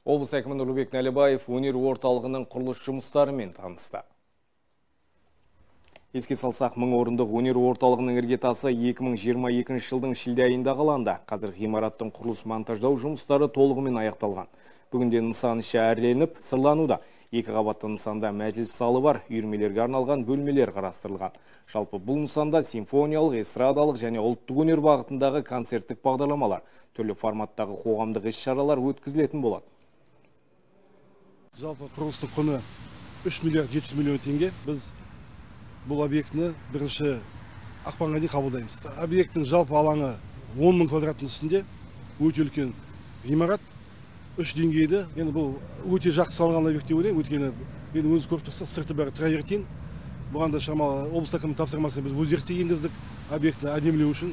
Облыс әкімі Нұрлыбек Нәлібаев өнер орталығының құрылыс жұмыстарымен танысты. Еске салсақ, 1000 орындық өнер орталығының іргетасы 2022 жылдың шілде айында қаланды. Қазір ғимараттың құрылыс монтаждау жұмыстары толығымен аяқталған. Бүгінде нысан іші әрленіп, сырлануда. 2 қабатты нысанда мәжіліс залы бар, үйірмелерге арналған бөлмелер қарастырылған. Жалпы бұл нысанда симфониялық, эстрадалық және ұлттық өнер бағытындағы концерттік бағдарламалар, түрлі форматтағы қоғамдық іс-шаралар өткізілетін болады. Жалпы құрылыстың құны 3 миллиард 700 миллион теңге. Біз бұл объектіні 1 ақпанға дейін қабылдаймыз. Объекттің жалпы алаңы 10 000 квадраттың үстінде, өте үлкен ғимарат, 3 деңгейді. Енді бұл өте жақсы салынған объект деп ойлаймын, өйткені енді өзі көріп тұрсақ, сырты бәрі травертин. Бұған да шамалы облыс әкімінің тапсырмасы, біз өзгерістер енгіздік объектіні әдемілеу үшін.